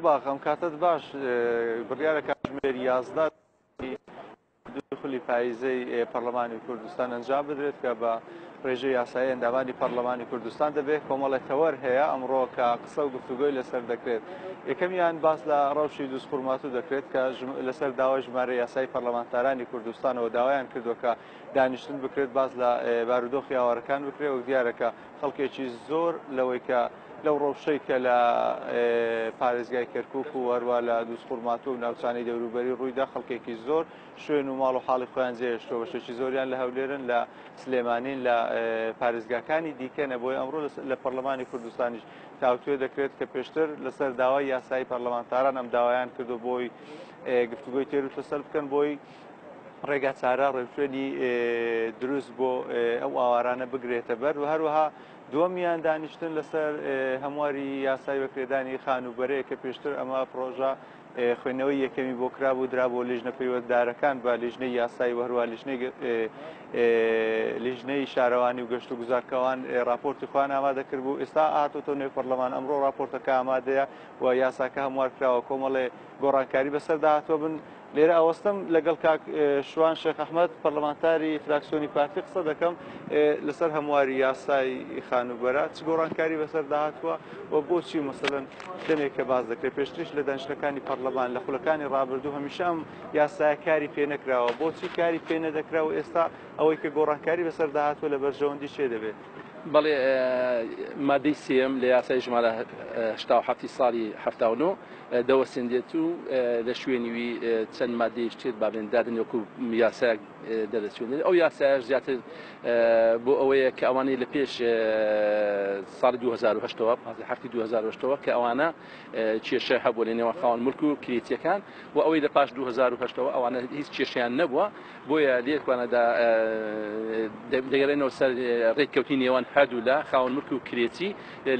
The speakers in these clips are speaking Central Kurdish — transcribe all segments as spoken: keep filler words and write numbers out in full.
گوڵباخ، ئەم کاتت باش. بڕیارە کاتژمێر یازدە دوو خولی پاییزەی پەرلەمانی کوردستان ئەنجام بدرێت کە بە ڕێژەی یاسایی ئەندامانی پەرلەمانی کوردستان دەبێت. کۆمەڵێک تەوەر هەیە ئەمڕۆ کە قسە و گفتوگۆی لەسەر دەکرێت. یەکەمیان باس لە ڕەوشی دووزخورماتوو دەکرێت کە لەسەر داوای ژمارە یاسایی پەرلەمانتارانی کوردستانەوە داوایان کردووە کە دانیشتن بکرێت، باس لە بارودۆخی ئاوارەکان بکرێت و دیارە کە خەڵکێکی زۆر لەوەی کە لەو ڕەوشەی کە لە پارێزگای کەرکوک و هەروە لە دووزخورماتوو و ناوچانەی دەوروبەری ڕوویدا، خەڵکێکی زۆر شوێن و ماڵ و حاڵی خۆیان جێهێشتووە، بەشێکی زۆریان لە هەولێرن، لە سلێمانین، لە پارێزگاکانی دیکەنە. بۆیە ئەمڕۆ لە پەرلەمانی کوردستانیش تاوتوێ دەکرێت کە پێشتر لەسەر داوای یاسایی پەرلەمانتاران ئەم داوایان کردو بۆی گفتوگۆی تێر و تەسەل بکەن، بۆی ڕێگا چارە ڕێوشوێنی دروست بۆ ئەو ئاوارانە بگرێتە بەر. و هەروەها دووەمیان دانیشتن لەسەر هەمواری یاسای بەکرێدانی خانووبەرەیە کە پێشتر ئەمە پرۆژە خوێندنەوەی یەکەمی بۆ کرابوو، درابوو لیژنە پەیوەنددارەکان بە لیژنەی یاسایی و هەروە لیژنەی شارەوانی و گەشت و گوزارکەوان راپۆرتی خۆیان ئامادە کردبوو. ئێستا هاتۆتە نێو پەرلەمان، ئەمڕۆ راپۆرتەکە ئامادەیە و یاساکە هەموار کراوە، کۆمەڵێ گۆڕانکاری بەسەردا هاتووە. بن لێرە ئەوەستم لەگەڵ کاک شوان شێخ ئەحمەد پەرلەمانتاری فراکسیۆنی پارتی قسە دەکەم لەسەر هەمواری یاسای خانووبەرە، چ گۆڕانکاری بەسەردا هاتووە و بۆچی مەسەلەن دەمێک کە باز دەکرێت. پێشتریش لە دانیشتنەکانی پەرلەمان لە خولەکانی ڕابردوو هەمیشە ئەم یاسایە کاری پێ نەکراوە، بۆچی کاری پێ نەدەکرا و ئێستا ئەوەی کە گۆڕانکاری بەسەردا هاتووە لە بەرژەوەندی چێ دەبێت؟ بەڵێ، مادەی سێم لە یاسای ژمارە هەشتا و حەفتی ساڵی حەفتا و نۆ دەوەسێندێت و لە شوێنیوی چەند مادەیش تر بابێن دادن وەکو یاسایەک دەردەچێنێت. ئەو یاسایەش زیاتر بۆ ئەوەیە کە ئەوانەی لە پێش ساڵی دوو هەزار و هەشتەوە، پازدە هەفتی دوو هەزار و هەشتەوە کە ئەوانە کێشە هەبوو لە نێوان خاوەن ملک و کرێچیەکان و ئەوەی لە پاش دوو هەزار و هەشتەوە ئەوانە هیچ کێشەیان نەبووە، بۆیە لێکوانەدا دەگەڕێنەوە سەر ڕێککەوتنی نێوان هەردوو لە خاوەن ملک و کرێچی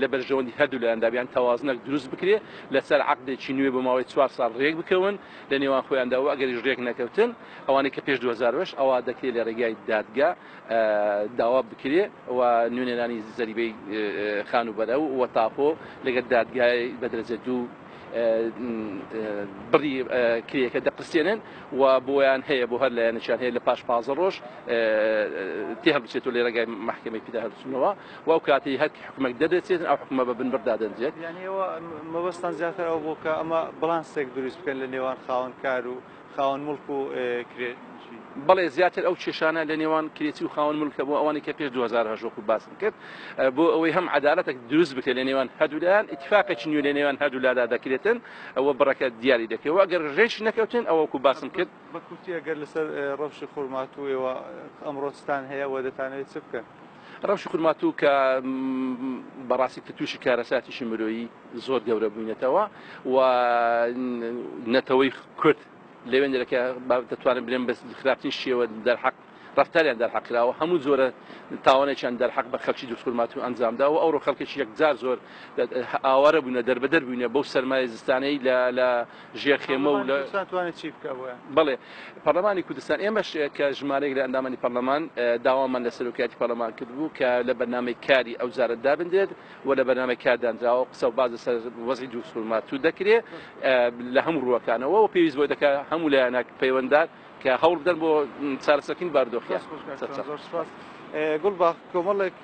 لە بەرژەوەندی هەردوو لایەندا بیان تەوازنێک دروست بکرێت لەسەر عەقدێکی نوێ بۆ ماوەی چوار ساڵ ڕێک بکەون لە نێوان خۆیاندا و ئەگەریش ڕێک نەکەوتن ئەوانەی کە پێش دوو هەزار و هەشت ئەوە دەکرێت لە ڕێگای دادگا داوا بکرێ و نوێنەرانی زەریبەی خانووبەرە و تاپۆ لەگەڵ دادگای بە دەرەجە دوو بڕی کرێکە دەقرسێنن و بۆیان هەیە بۆ هەر لایەنێکیان هەیە لە پاش پازدە ڕۆژ تێ هەڵبچێتەوە لە ڕێگای مەحکەمەی پیدا هەڵبچنەوە و ئەو کاتەی هەر حکومێک دەدەچێتن ئەو حکومە بە بنبڕ دادەنرێت. یعنی ئەوە مەبەستان زیاتر ئەو بۆ کە ئەمە بڵانسێک دروست بکەن لە نێوان خاوەنکار و خاوەن مڵک و کرێچی؟ بەڵێ، زیاتر ئەو کێشانە لە نێوان کرێچی و خاوەن مڵکە بۆ ئەوانەی کە پێش دوو هەزار و هەشت وەکو باسم کرد، بۆ ئەوەی هەم عەدالەتێک دروست بکرێت لە نێوان هەردوو لایەن، ئیتفاقێکی نوێ لە نێوان هەردوو لادا دەکرێتن ئەوە بڕەکە دیاری دەکرێت و ئەگەر ڕێک نەکەوتن ئەوە وەکو باسم کرد. بە کورتی ئەگەر لەسەر ڕەوشی خورماتوو ئێوە ئەمڕۆستان هەیە و دەتانەوێت چ بکەن؟ ڕەوشی خورماتوو کە بەڕاستی کە تووشی کارەساتێکی مرۆیی زۆر گەورە بووینەتەوە و نەتەوەی کورد لەوێندرەکە دەتوانن بڵێن بە خراپترین شێوە دەرحەق ڕەفتاریان دەرحەق کراوە، هەموو جۆرە تاوانێکیان دەرحەق بە خەڵکی دووزخورماتوو ئەنجامدا و ئەوڕۆ خەڵکێکی یەکجار زۆر ئاوارە بوونە، دەربەدەر بووینە بەو سەرمایە زستانەی لە ژێر خێمە و لە کوردستان توانێت چی بکە بۆیان؟ بەڵێ، پەرلەمانی کوردستان ئێمەش کە ژمارەیەک لە ئەندامانی پەرلەمان داوامان لە سەرۆکایەتی پەرلەمان کردبوو کە لە بەرنامەی کاری ئەو جارە دابنرێت و لە بەرنامەی کار دانراوە قسە و باز لەسەر وەزعی دووزخورماتوو دەکرێت لە هەموو ڕووەکانەوە و پێویست بۆی دەکات هەموو لایەنە پەیوەنددار کە هەوڵ بدەن بۆ چارەسەرکردنی بارودۆخیان. زۆر سوپاس. گوڵباخ، کۆمەڵێک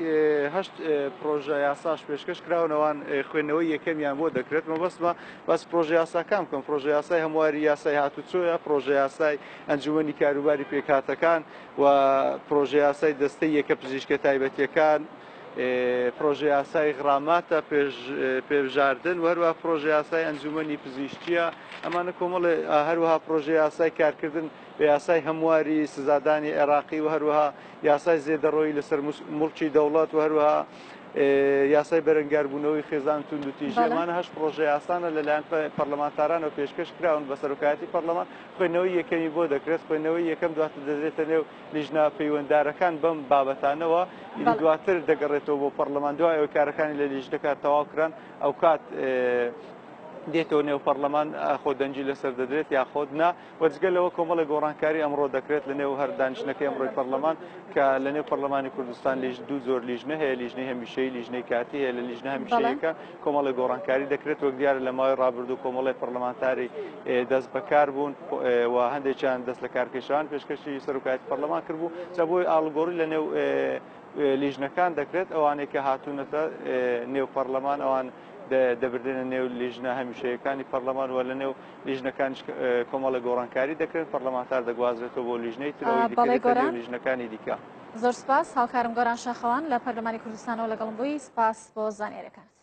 هەشت پرۆژە یاساش پێشکەش کراونەوان خوێندنەوەی یەکەمیان بۆ دەکرێت. مەبەستمە باس پرۆژە یاساکان بکەم. پرۆژە یاسای هەمواری یاسای هاتوچۆیە، پرۆژە یاسای ئەنجومەنی کاروباری پێکهاتەکان و پرۆژە یاسای دەستەی یەکە پزیشکە تایبەتیەکان، پرۆژە یاسای غراماتە پێبژاردن و هەروەها پرۆژە یاسای ئەنجومەنی پزیشکیە. ئەمانە کۆمەڵێ هەروەها پرۆژە یاسای کارکردن بە یاسای هەمواری سزادانی عێراقی و هەروەها یاسای زێدەڕۆیی لەسەر مڵکی دەوڵەت و هەروەها یاسای بەرەنگاربوونەوەی خێزان توندوتیژی. ئەمانە هەشت پرۆژە یاسانە لەلایەن پەرلەمانتارانەوە پێشکەش کراون بە سەرۆکایەتی پەرلەمان. خوێندنەوەی یەکەمی بۆ دەکرێت، خوێندنەوەی یەکەم دواتر دەدرێتە نێو لیژنە پەیوەنددارەکان بەم بابەتانەوە، دواتر دەگەڕێتەوە بۆ پەرلەمان. دوای ئەوەی کارەکانی لە لیژنەکە تەواو کران ئەو کات دێتەوە نێو پەرلەمان خۆ دەنگی لەسەر دەدرێت یاخۆد نا. وەجگە لەوە کۆمەڵی گۆڕانکاری ئەمڕۆ دەکرێت لە نێو هەر دانیشتنەکەی ئەمڕۆی پەرلەمان کە لە نێو پەرلەمانی کوردستان لیژ دوو زۆر لیژنە هەیە، لیژنەی هەمیشەیی، لیژنەی کاتی هەیە. لە لیژنە هەمیشەیەکە کۆمەڵی گۆڕانکاری دەکرێت. وەک دیارە لە ماوەی ڕابردوو کۆمەڵی پەرلەمانتاری دەست بەکار بوون و هەندێکیان دەست لە کارکێشان پێشکەشی سەرۆکایەتی پەرلەمان کردبوو. جا بۆی ئاڵوگۆڕی لە نێو لیژنەکان دەکرێت. ئەوانەی کە هاتوونەتە نێو پەرلەمان ئەوان دەبردێنە نێو لیژنە هەمیشەیەکانی پەرلەمان و لە نێو لیژنەکانیش کۆمەڵی گۆڕانکاری دەکرێن. پەرلەمانتار دەگوازرێتەوە بۆ لیژنەی ترەوەی دیکە لیژنەکانی دیکە. زۆر سپاس هاوکارم گۆران شاخەوان لە پەرلەمانی کوردستانەوە لەگەڵم بووی. سپاس بۆ زانیاریەکانت.